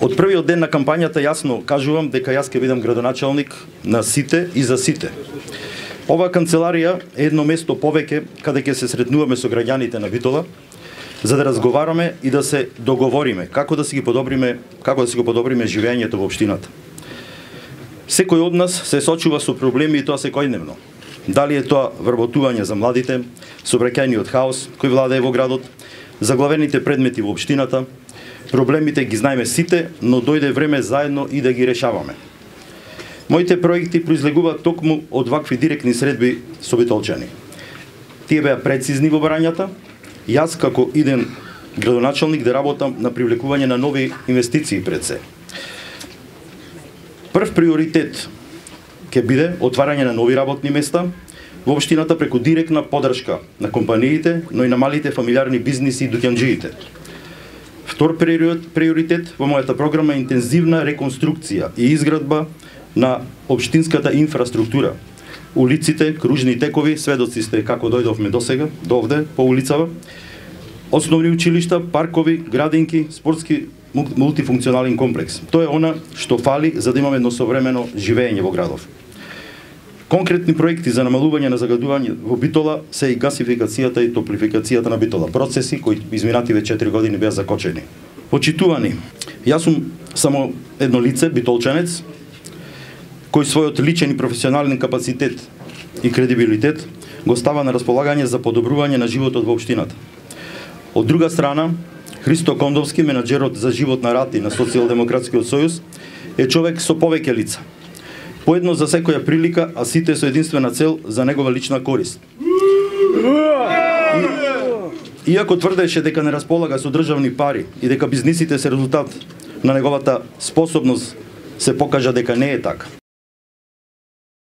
Од првиот ден на кампањата јасно кажувам дека јас ќе бидам градоначалник на сите и за сите. Оваа канцеларија е едно место повеќе каде ќе се сретнуваме со граѓаните на Битола, за да разговараме и да се договориме како да си го подобриме живењето во општината. Секој од нас се сочува со проблеми и тоа секојдневно. Дали е тоа вработување за младите, сообраќајниот хаос кој владее во градот, заглавените предмети во општината, проблемите ги знаеме сите, но дојде време заедно и да ги решаваме. Моите проекти произлегуваат токму од вакви директни средби со битолчани. Тие беа прецизни во барањата, јас како иден градоначалник да работам на привлекување на нови инвестиции пред се. Прв приоритет ќе биде отварање на нови работни места во општината преку директна поддршка на компаниите, но и на малите фамилиарни бизниси и дуќанџиите. Втор приоритет во мојата програма е интензивна реконструкција и изградба на општинската инфраструктура. Улиците, кружни текови, сведоци сте како дојдовме досега, до овде, по улицава, основни училишта, паркови, градинки, спортски мултифункционален комплекс. Тоа е она што фали за да имаме едно современо живење во градов. Конкретни проекти за намалување на загадување во Битола се и гасификацијата и топлификацијата на Битола, процеси кои изминативе 4 години беа закочени. Почитувани, јас сум само едно лице, битолчанец, кој својот личен и професионален капацитет и кредибилитет го става на располагање за подобрување на животот во општината. Од друга страна, Христо Кондовски, менаџерот за живот на рати на Социјалдемократскиот сојуз, е човек со повеќе лица. Поедно за секоја прилика, а сите со единствена цел за негова лична корист. Иако тврдеше дека не располага со државни пари и дека бизнисите се резултат на неговата способност, се покажа дека не е така.